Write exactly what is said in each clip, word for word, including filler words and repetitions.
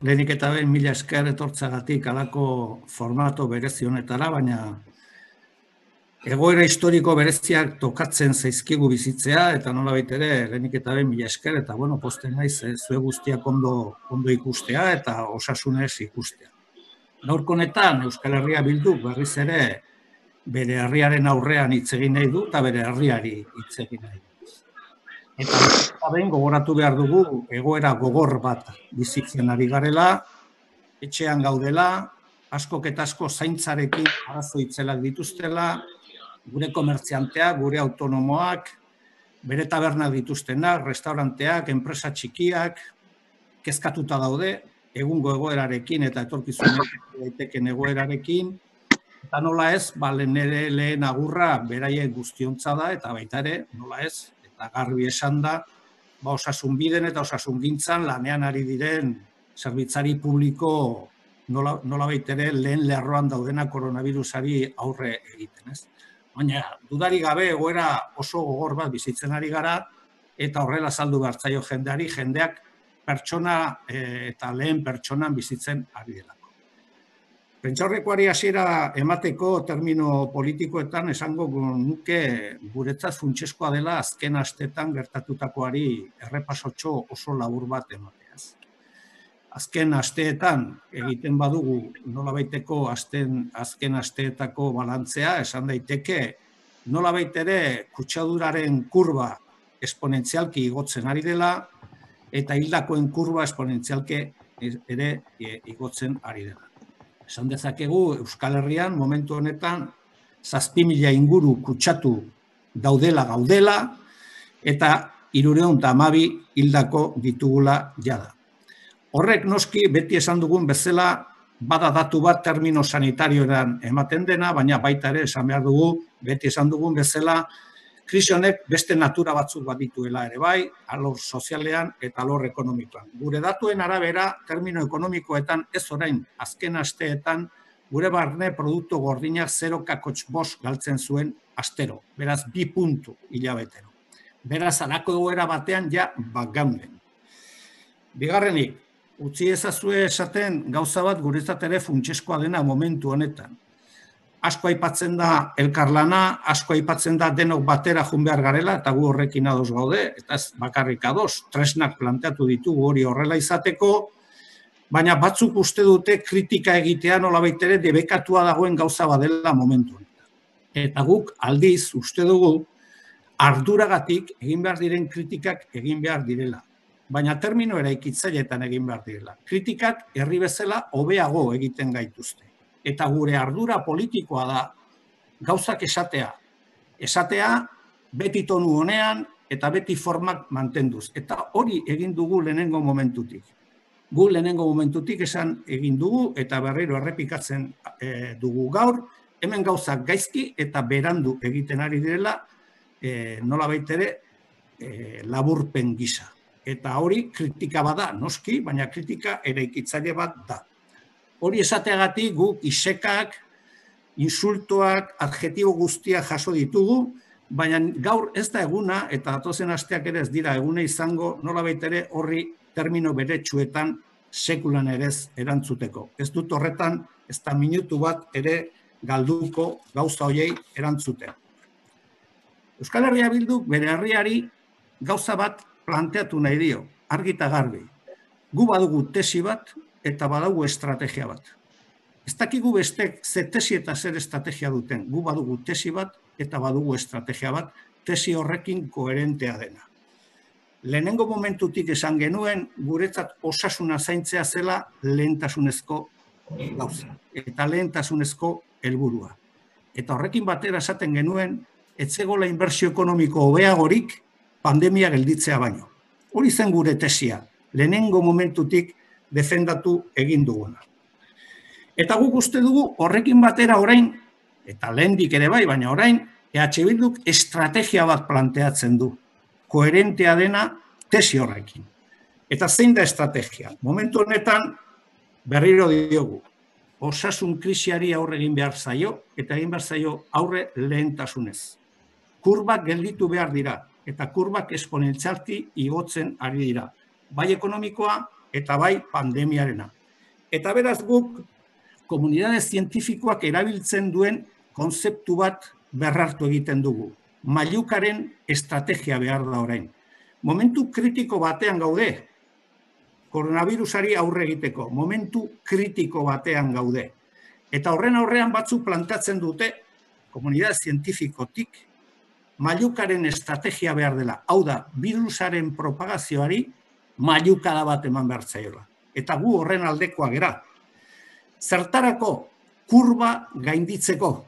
lehenik eta behin mila esker etortzagatik alako formato berezi honetara, baina egoera historiko bereziak tokatzen zaizkigu bizitzea, eta nolabait ere lehenik eta behin mila esker, eta bueno, posten naiz zue guztiak ondo, ondo ikustea eta osasunez ikustea. Gaurko honetan Euskal Herria Bilduk berriz ere bere herriaren aurrean hitz egin nahi du eta bere herriari hitz egin nahi du. Eta behin gogoratu behar dugu egoera gogor bat bizitzen ari garela, etxean gaudela, askok eta asko zaintzarekin arazo itzelak dituztela, gure komertzianteak, gure autonomoak, bere tabernak dituztenak, restauranteak, enpresa txikiak, kezkatuta daude, egungo egoerarekin eta etorkizunean daiteken egoerarekin, eta nola ez, nire lehen agurra beraien guztiontza da, eta baita ere, nola ez, eta garbi esan da, osasun biden eta osasun gintzan lanean ari diren zerbitzari publiko nola baitere lehen lerroan daudena koronavirusari aurre egiten, ez? Baina, dudari gabe egoera oso gogor bat bizitzen ari gara, eta horrela saldu behartzaio jendeari, jendeak pertsona eta lehen pertsonan bizitzen ari delako. Prentsaurrekoari hasiera emateko termino politikoetan esango nuke guretzat funtsezkoa dela azken asteetan gertatutakoari errepasotxo oso labur bat emateaz. Azken asteetan egiten badugu nolabaiteko azken asteetako balantzea, esan daiteke nolabait ere kutsaduraren kurba esponentzialki igotzen ari dela eta hildakoen kurba esponentzialki ere igotzen ari dela. Esan dezakegu Euskal Herrian momentu honetan zazpi mila inguru kutsatu daudela gaudela eta hirurehun eta hamabi hildako ditugula jada. Horrek noski beti esan dugun bezala bada datu bat termino sanitarioan ematen dena, baina baita ere esan behar dugu beti esan dugun bezala krisi honek beste natura batzuk bat dituela ere bai, alor sozialean eta alor ekonomikoan. Gure datuen arabera, termino ekonomikoetan ez orain azken asteetan, gure barne produktu gordinak zero koma bost galtzen zuen astero, beraz bi puntu hilabetero. Beraz, alako egoera batean ja bagaunden. Bigarrenik, utzi ezazue esaten gauza bat guretzat ere funtsezkoa dena momentu honetan. Asko aipatzen da elkarlana, asko aipatzen da denok batera joan behar garela, eta gu horrekin ados gaude, eta ez bakarrik ados, tresnak planteatu ditugu hori horrela izateko, baina batzuk uste dute kritika egitea nolabait ere debekatua dagoen gauza badela momentu honetan. Eta guk aldiz uste dugu arduragatik egin behar diren kritikak egin behar direla, baina termino eraikitzaileetan egin behar direla. Kritikak herri bezala hobeago egiten gaituzte. Eta gure ardura politikoa da gauzak esatea. Esatea beti tonu honean eta beti formak mantenduz. Eta hori egin dugu lehenengo momentutik. Gu lehenengo momentutik esan egin dugu eta berriro errepikatzen dugu gaur, hemen gauzak gaizki eta berandu egiten ari direla nola baitere laburpen gisa. Eta hori kritika bada, noski, baina kritika eraikitzaile bat da. Hori esateagatik guk isekak, insultoak, adjetibo guztiak jaso ditugu, baina gaur ez da eguna, eta datozen asteak ere ez dira eguna izango, nolabait ere horri termino beretsuetan sekulan ere ez erantzuteko. Ez dut horretan, ez da minutu bat ere galduko gauza hoiei erantzuten. Euskal Herria Bilduk bere herriari gauza bat planteatu nahi dio, argi eta garbi. Gu badugu tesi bat, eta badugu estrategia bat. Ez dakigu bestek ze tesi eta zer estrategia duten. Gu badugu tesi bat eta badugu estrategia bat, tesi horrekin koherentea dena. Lehenengo momentutik esan genuen, guretzat osasuna zaintzea zela lehentasunezko gauza. Eta lehentasunezko helburua. Eta horrekin batera esaten genuen, etzegola inbertsio ekonomiko hobeagorik pandemia gelditzea baino. Hori zen gure tesia. Lehenengo momentutik defendatu egin duguna. Eta guk uste dugu horrekin batera orain, eta lehendik ere bai, baina orain, E H Bilduk estrategia bat planteatzen du, koherentea dena tesi horrekin. Eta zein da estrategia? Momentu honetan berriro diogu, osasun krisiari aurre egin behar zaio, eta egin behar zaio aurre lehentasunez. Kurbak gelditu behar dira, eta kurbak esponentzialki igotzen ari dira. Bai ekonomikoa, eta bai pandemiarena. Eta beraz guk, komunidade zientifikoak erabiltzen duen konzeptu bat berrartu egiten dugu. Mailukaren estrategia behar da orain. Momentu kritiko batean gaude, koronavirusari aurre egiteko, momentu kritiko batean gaude. Eta horren aurrean batzuk planteatzen dute, komunidade zientifikotik, mailukaren estrategia behar dela. Hau da, virusaren propagazioari mailukada bat eman behar zaiola. Eta gu horren aldekoa gera. Zertarako kurba gainditzeko.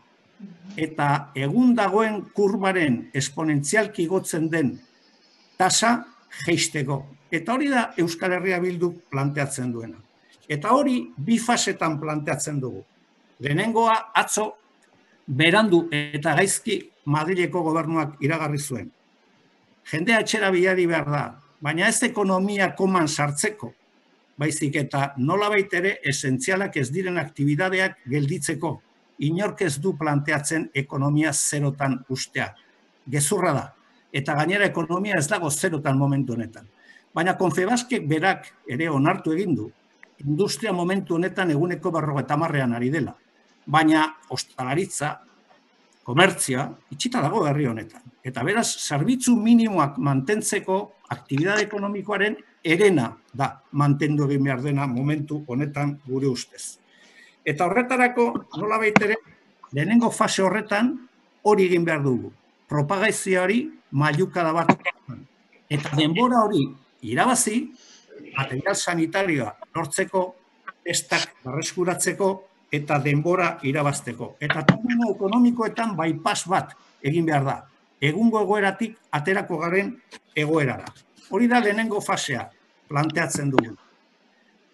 Eta egun dagoen kurbaren esponentzialki igotzen den tasa jeisteko. Eta hori da Euskal Herria Bilduk planteatzen duena. Eta hori bi fasetan planteatzen dugu. Lehenengoa atzo berandu eta gaizki Madrileko gobernuak iragarri zuen. Jendea etxera bilari behar da, baina ez ekonomia koman sartzeko, baizik eta nolabait ere esentzialak ez diren aktibidadeak gelditzeko. Inork ez du planteatzen ekonomia zerotan ustea. Gezurra da. Eta gainera ekonomia ez dago zerotan momentu honetan. Baina Confebaskek berak ere onartu egin du, industria momentu honetan eguneko berrogeita hamarrean ari dela. Baina ostalaritza, komertzia, itxita dago herri honetan. Eta beraz, zerbitzu minimoak mantentzeko aktibidade ekonomikoaren herena da mantendu egin behar dena momentu honetan gure ustez. Eta horretarako, nola baitere, lehenengo fase horretan hori egin behar dugu. Propagazioari mailukada bat. Eta denbora hori irabazi, material sanitarioa lortzeko, testak berreskuratzeko eta denbora irabazteko. Eta termino ekonomikoetan bypass bat egin behar da. Egungo egoeratik aterako garen egoerara. Hori da lehenengo fasea planteatzen dugu.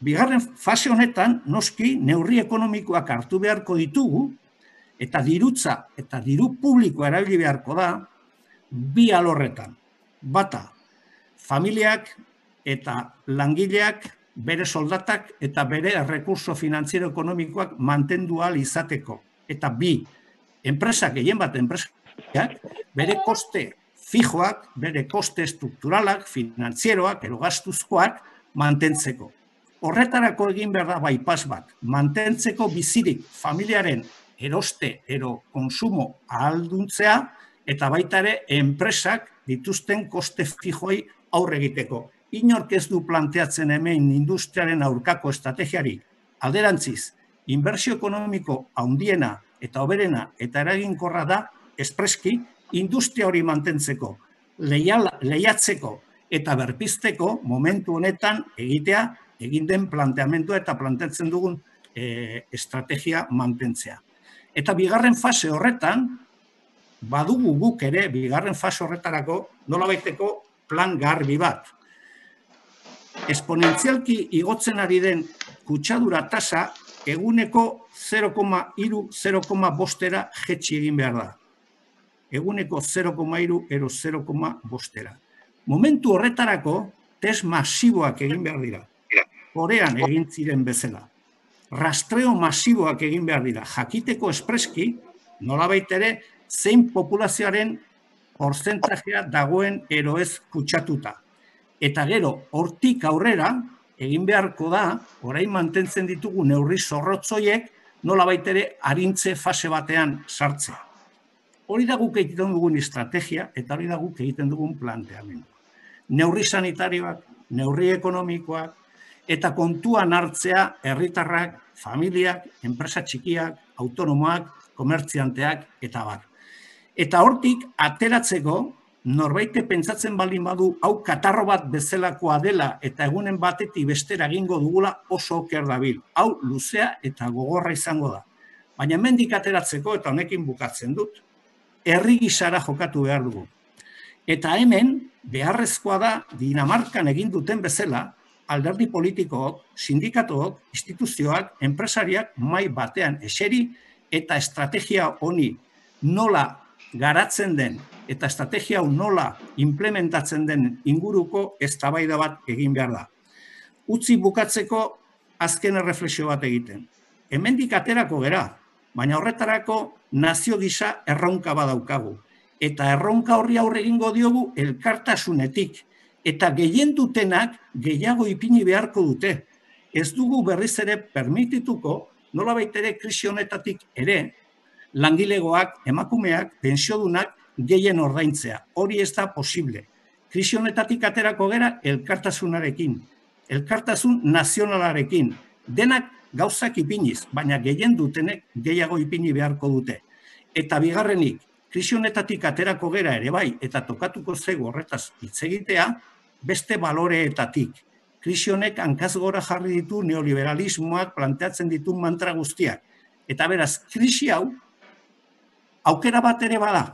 Bigarren fase honetan, noski, neurri ekonomikoak hartu beharko ditugu, eta dirutza eta diru publikoa erabili beharko da, bi alorretan. Bata, familiak eta langileak bere soldatak eta bere rekurso finantziero ekonomikoak mantendu ahal izateko. Eta bi, enpresak, gehien bat enpresak, bere koste fijoak, bere koste estrukturalak, finantzieroak, ero gastuzkoak, mantentzeko. Horretarako egin behar da bypass bat, mantentzeko bizirik familiaren eroste, ero konsumo ahalduntzea, eta baita ere enpresak dituzten koste fijoi aurre egiteko. Inork ez du planteatzen hemen industriaren aurkako estrategiari. Alderantziz, inbertsio ekonomiko handiena eta hoberena eta eraginkorra da espreski industria hori mantentzeko, lehiatzeko eta berpizteko momentu honetan egitea egin den planteamendua eta planteatzen dugun estrategia mantentzea. Eta bigarren fase horretan, badugu guk ere, bigarren fase horretarako nolabaiteko plan garbi bat. Esponentzialki igotzen ari den kutsadura tasa eguneko zero koma hiru zero koma bostera jetxi egin behar da. Eguneko zero koma hiru ero zero koma bostera. Momentu horretarako test masiboak egin behar dira. Korean egin ziren bezala. Rastreo masiboak egin behar dira. Jakiteko espreski, nolabait ere, zein populazioaren porzentajea dagoen ero ez kutsatuta. Eta gero, hortik aurrera, egin beharko da, orain mantentzen ditugu neurri zorrotzoiek, nolabait ere arintze fase batean sartzea. Hori da guk egiten dugun estrategia, eta hori da guk egiten dugun planteamendu. Neurri sanitarioak, neurri ekonomikoak, eta kontuan hartzea herritarrak, familiak, enpresa txikiak, autonomoak, komertzianteak, eta bar. Eta hortik, ateratzeko, norbaite pentsatzen baldin badu, hau katarro bat bezalakoa dela, eta egunen batetik bestera egingo dugula oso oker dabil. Hau luzea eta gogorra izango da. Baina hemendik ateratzeko, eta honekin bukatzen dut, herri gisara jokatu behar dugu. Eta hemen, beharrezkoa da, Dinamarkan egin duten bezala, alderdi politikook, sindikatook, instituzioak, enpresariak mai batean eseri eta estrategia honi nola garatzen den eta estrategia hau nola implementatzen den inguruko eztabaida bat egin behar da. Utzi bukatzeko azken erreflexio bat egiten. Hemendik aterako gera, baina horretarako nazio gisa erronka badaukagu. Eta erronka horri aurre egingo diogu elkartasunetik. Eta gehien dutenak gehiago ipini beharko dute. ez dugu berriz ere permitituko, nolabait ere krisi honetatik ere, langilegoak, emakumeak, pensiodunak gehien ordaintzea. Hori ez da posible. Krisi honetatik aterako gera elkartasunarekin, elkartasun nazionalarekin, denak gauzak ipiniz, baina gehien dutenek gehiago ipini beharko dute. Eta bigarrenik, krisi honetatik aterako gera ere bai, eta tokatuko zego horretaz hitz egitea, beste baloreetatik. Krisi honek hankaz gora jarri ditu neoliberalismoak planteatzen ditu mantra guztiak. Eta beraz, krisi hau, aukera bat ere bada.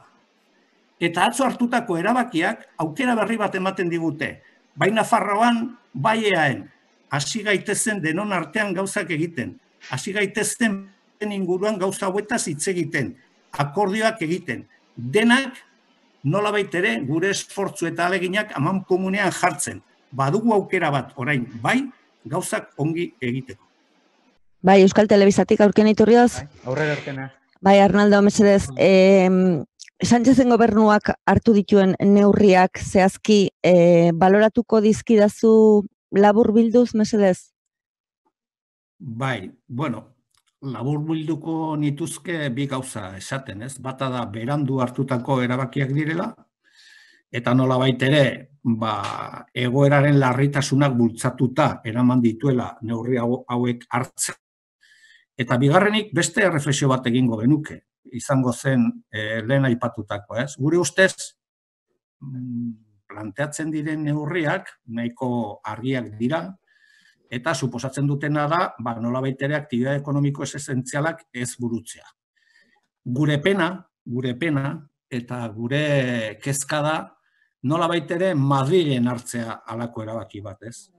Eta atzo hartutako erabakiak aukera berri bat ematen digute. Bai Nafarroan, bai eaen. Hasi gaitezen denon artean gauzak egiten. Hasi gaitezen inguruan gauza hauetaz hitz egiten. Akordioak egiten. Denak nolabait ere gure esfortzu eta aleginak aman komunean jartzen. Badugu aukera bat orain, bai, gauzak ongi egiteko. Bai, Euskal Telebistatik aurken iturrioz? Aurrera aurkena. Bai, Arnaldo, mesedez, eh, Sánchezen gobernuak hartu dituen neurriak zehazki eh, baloratuko dizkidazu labur bilduz, mesedez? Bai, bueno, labur bilduko nituzke bi gauza esaten, ez? Bata da berandu hartutako erabakiak direla, eta nolabait ere, ba, egoeraren larritasunak bultzatuta eraman dituela neurri hauek hartzen. Eta bigarrenik beste erreflexio bat egingo genuke, izango zen eh, lehen aipatutako, ez? Gure ustez, planteatzen diren neurriak nahiko argiak dira, eta suposatzen dutena da, ba, nolabait ere aktibitate ekonomiko ez esentzialak ez burutzea. Gure pena, gure pena, eta gure kezka da, nolabait ere Madrilen hartzea halako erabaki bat, ez?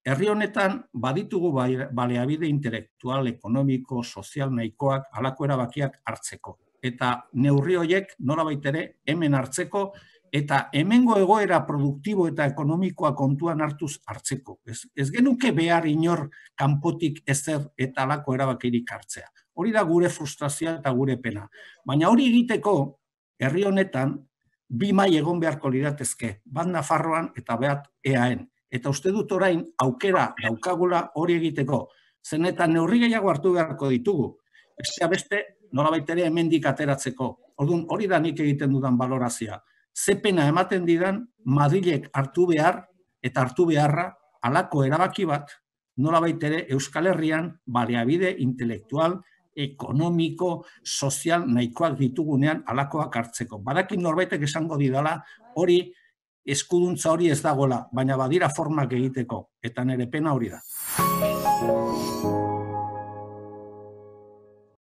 Herri honetan baditugu baliabide intelektual, ekonomiko, sozial nahikoak halako erabakiak hartzeko. Eta neurri horiek nolabait ere hemen hartzeko eta hemengo egoera produktibo eta ekonomikoa kontuan hartuz hartzeko. Ez, ez genuke behar inor kanpotik ezer eta halako erabakirik hartzea. Hori da gure frustrazioa eta gure pena. Baina hori egiteko herri honetan bi mai egon beharko liratezke, bat Nafarroan eta bat eaen. Eta uste dut orain aukera daukagula hori egiteko. Zen eta neurri gehiago hartu beharko ditugu. Bestea beste, nolabait ere hemendik ateratzeko. Orduan, hori da nik egiten dudan balorazioa. Ze pena ematen didan Madrilek hartu behar eta hartu beharra halako erabaki bat, nolabait ere Euskal Herrian baliabide intelektual, ekonomiko, sozial nahikoak ditugunean halakoak hartzeko. Badakin norbaitek esango didala hori eskuduntza hori ez dagoela, baina badira formak egiteko, eta nire pena hori da.